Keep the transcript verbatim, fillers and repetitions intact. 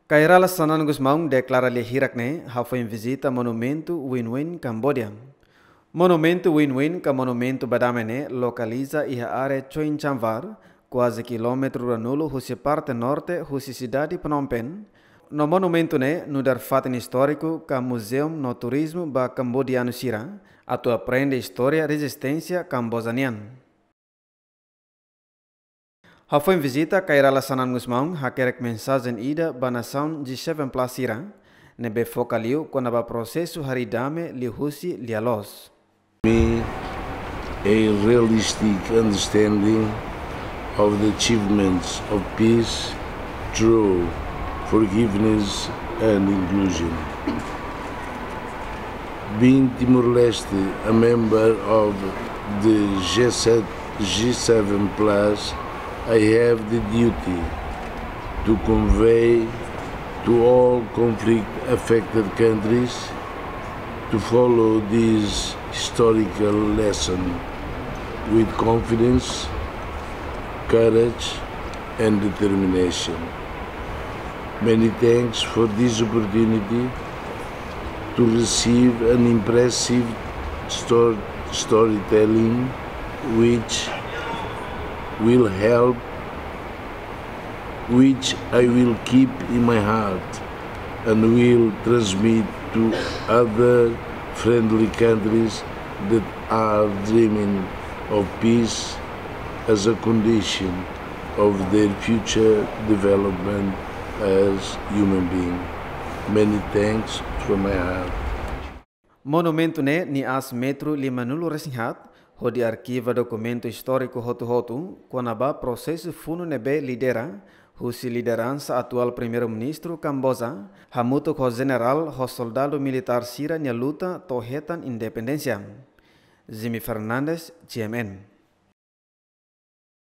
Kay Rala Xanana Gusmão deklara lia hirak ne'e hafoin vizita monumentu Win Win Cambodia. Monumentu Win Win ka monumentu ba dame ne'e lokaliza iha área Choin Chamvar, kuaze kilómetru ruanulu husi parte norte husi sidade Phnom Penh. No monumentu ne'e nu'udar fatin istóriku ka muzeu no turizmu ba kambodianu sira atu aprende istória rezisténsia Kamboja nian. Hafoin vizita, Kay Rala Xanana Gusmão hakerek mensajen ida ba nasaun G seven plus sira, ne'ebé foka liu kona-ba prosesu harii dame liuhusi lia-loos. Me a realistic understanding of the achievements of peace through forgiveness and inclusion. Being Timor-Leste a member of the G seven, G seven plus, I have the duty to convey to all conflict-affected countries to follow this historical lesson with confidence, courage, and determination. Many thanks for this opportunity to receive an impressive stor-, storytelling which will help, which I will keep in my heart and will transmit to other friendly countries that are dreaming of peace as a condition of their future development as human being. Many thanks from my heart. Monumentu ne'e nia aas metru limanulu resin haat, hodi arkiva dokumentu istóriku hotu-hotu kona-ba prosesu funu ne'ebé lidera husi lideransa atuál Primeiru-Ministru Kamboja, hamutuk ho jenerál ho soldadu militár sira-nia luta to'o hetan independénsia. Jimmy Fernandes, G M N.